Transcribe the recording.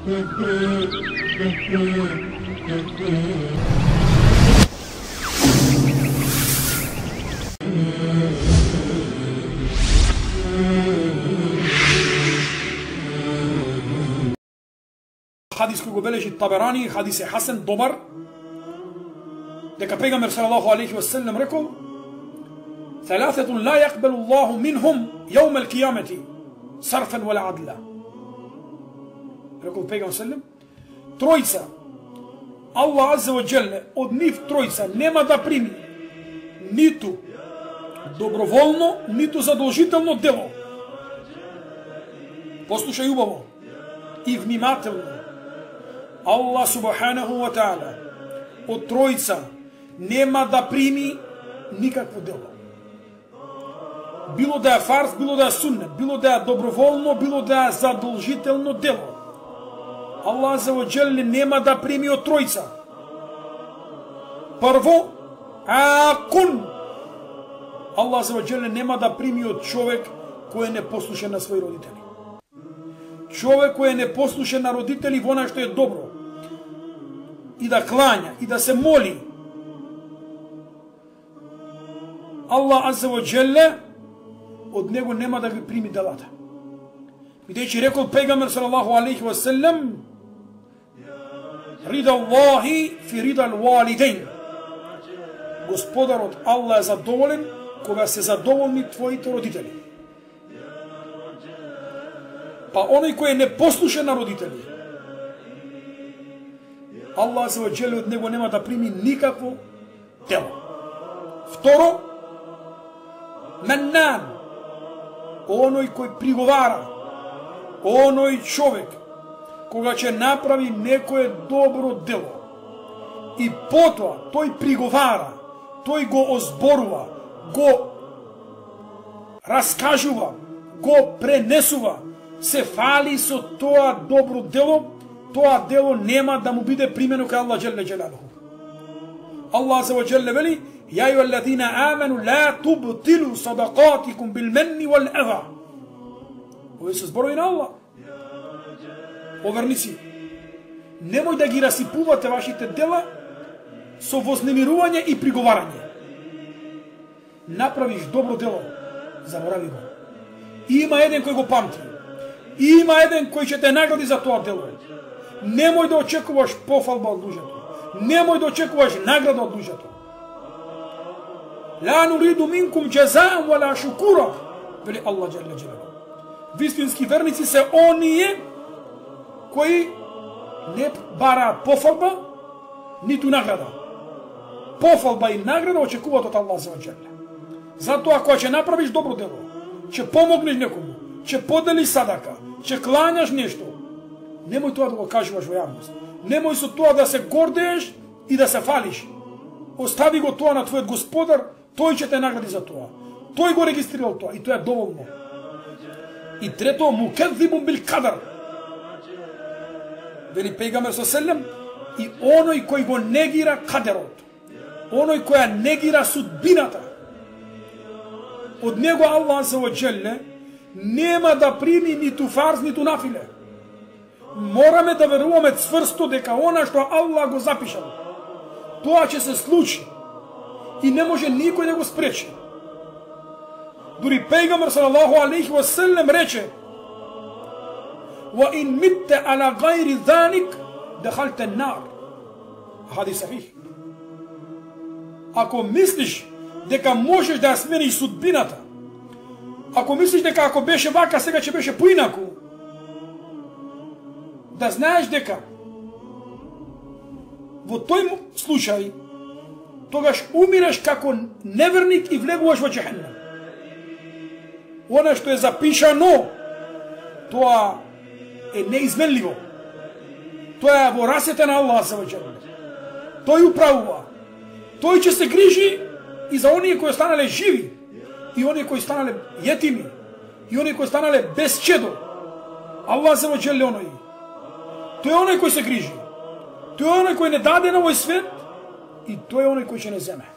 Hadis кој го бележи Таберани, хадис е хасен, добар, дека пегамбер салаллаху алейхи ва селем рекол: "ثلاثة لا يقبل الله منهم يوم القيامة صرفا ولا عدلا." Рекол пегамбер селем, тројца Аллах азza ва джелле од нив тројца нема да прими ниту доброволно, ниту задолжително дело. Послушај убаво и внимателно. Аллах субханаху ва таала од тројца нема да прими никакво дело. Било да е фарз, било да е суннет, било да е доброволно, било да е задолжително дело. Аллах азza ва джелле нема да прими од тројца. Прво, акун. Аллах азza ва джелле нема да прими од човек кој е непослушен на своји родители. Човек кој е непослушен на родители во она што е добро, и да клања, и да се моли, Аллах азza ва джелле од него нема да ги прими делата. Бидејќи рекол пегамбер салаллаху алейхи ва селем: "Рида Аллахи фи рида ал-валидейн." Господарот Аллах е задоволен кога се задоволни твоите родители. Па оној кој е непослушен на родители, Аллах азza ва джелле од него нема да прими никакво дело. Второ, меннан, оној кој приговара, оној човек кога ќе направи некое добро дело и потоа тој приговара, тој го озборува, го раскажува, го пренесува, се фали со тоа добро дело, тоа дело нема да му биде примено кај Аллах джелле джелалуху. Аллах азza ва джелле вели: "Ја ајуҳаллазина аману ла тубтилу садақатикум билменни вал аза." Овие се зборови на Аллах. О верници, немој да ги расипувате вашите дела со вознемирување и приговарање. Направиш добро дело, заборави го. Има еден кој го памти. Има еден кој ќе те награди за тоа дело. Немој да очекуваш пофалба од луѓето. Немој да очекуваш награда од луѓето. Ла нуриду минкум џазаан вала шукура, вели Аллах џелле џелалуху. Вистински верници се оние кои не бараат пофалба, ниту награда. Пофалба и награда очекуваат од Аллах азza ва джелле. Затоа кога ќе направиш добро дело, ќе помогнеш некому, ќе поделиш садака, ќе клањаш нешто, немој тоа да го кажуваш во јавност. Немој со тоа да се гордееш и да се фалиш. Остави го тоа на твојот Господар, тој ќе те награди за тоа. Тој го регистрирал тоа и тоа е доволно. И трето, мукеззибун бил кадар. Вели пегамбер селем, и оној кој го негира кадерот, оној кој негира судбината, од него Аллах азza ва джелле нема да прими ниту фарз, ниту нафиле. Мораме да веруваме цврсто дека она што Аллах го запишал, тоа ќе се случи и не може никој да го спречи. Дури пегамбер салаллаху алейхи ва селем рече: "Ва ин митте ала гайри заник дахалте нар." Хадис сахих. Ако мислиш дека можеш да ја смениш судбината, ако мислиш дека ако беше вака сега ќе беше поинаку, да знаеш дека во тој случај тогаш умираш како неверник и влегуваш во џехеннем. Она што е запишано, тоа е неизменливо. Тоа е во расете на Аллах азza ва джелле. Тој управува. Тој ќе се грижи и за оние кои останале живи, и оние кои останале јетими, и оние кои останале без чедо. Аллах азza ва джелле оној. Тој е оној кој се грижи. Тој е оној кој не даде на овој свет и тој е оној кој ќе не земе.